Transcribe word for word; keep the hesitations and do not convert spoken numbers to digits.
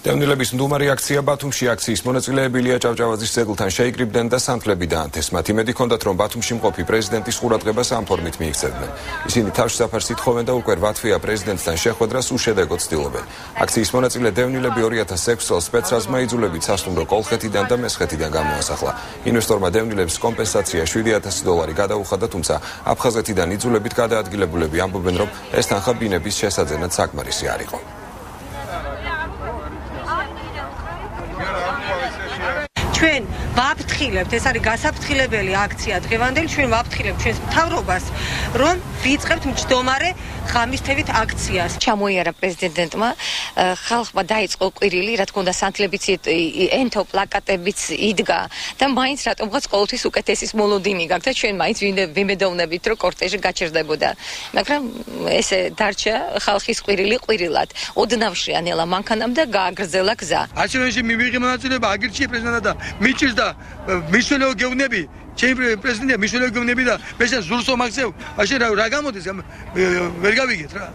დევნილების მდუმარი აქცია ბათუმში აქციის მონაწილეები ილია ჭავჭავაძის ძეგლთან შეიკრიბნენ და სანთლები დაანთეს. მათ იმედი ჰქონდათ, რომ ბათუმში მყოფი პრეზიდენტის ყურადღებას ამ ფორმით მიიქცევდნენ. ისინი თავშესაფარს ითხოვენ და უკვე რვა თვეა პრეზიდენტთან შეხვედრას უშედეგოდ ცდილობენ. აქციის მონაწილე დევნილები ორი ათას ექვსი წელს სპეცრაზმა იძულებით სასტუმრო კოლხეთიდან და მესხეთიდან გამოასახლა. ინვესტორმა დევნილებს კომპენსაცია შვიდი ათასი დოლარი გადაუხადა, თუმცა აფხაზეთიდან იძულებით გადაადგილებულები ამბობენ, რომ ეს თანხა ბინების შესაძენად საკმარისი არ იყო. ჩვენ ვაფრთხილებთ, ეს არის გასაფრთხილებელი აქცია დღევანდელი, ჩვენ ვაფრთხილებთ ჩვენს მთავრობას, რომ ვიწყებთ მჯდომარე ღამისთევით აქციას. ჩამოიარა პრეზიდენტმა, ხალხმა დაიწყო ყვირილი, რა თქმა უნდა, სანთლებიც ენთო პლაკატებიც იდგა და მაინც რატომღაც ყოველთვის უკეთესის მოლოდინი გაქვს და ჩვენ მაინც ვიმედოვნებით, რომ კორტეჟი გაჩერდებოდა. მაგრამ ესე დარჩა ხალხის ყვირილი ყვირილად. ოდნავ შეანელა მანქანამ და გააგრძელა გზა. არჩევნებში მივიღე მონაწილეობა, აგირჩიე პრეზიდენტად და მიჭირს და მისულეო გეუბნები, ჩემი პრეზიდენტია მისულეო გეუბნები და მე შენ ზურსო მაგზევ, მაშინ რა გამოდის ვერ გავიგეთ რა.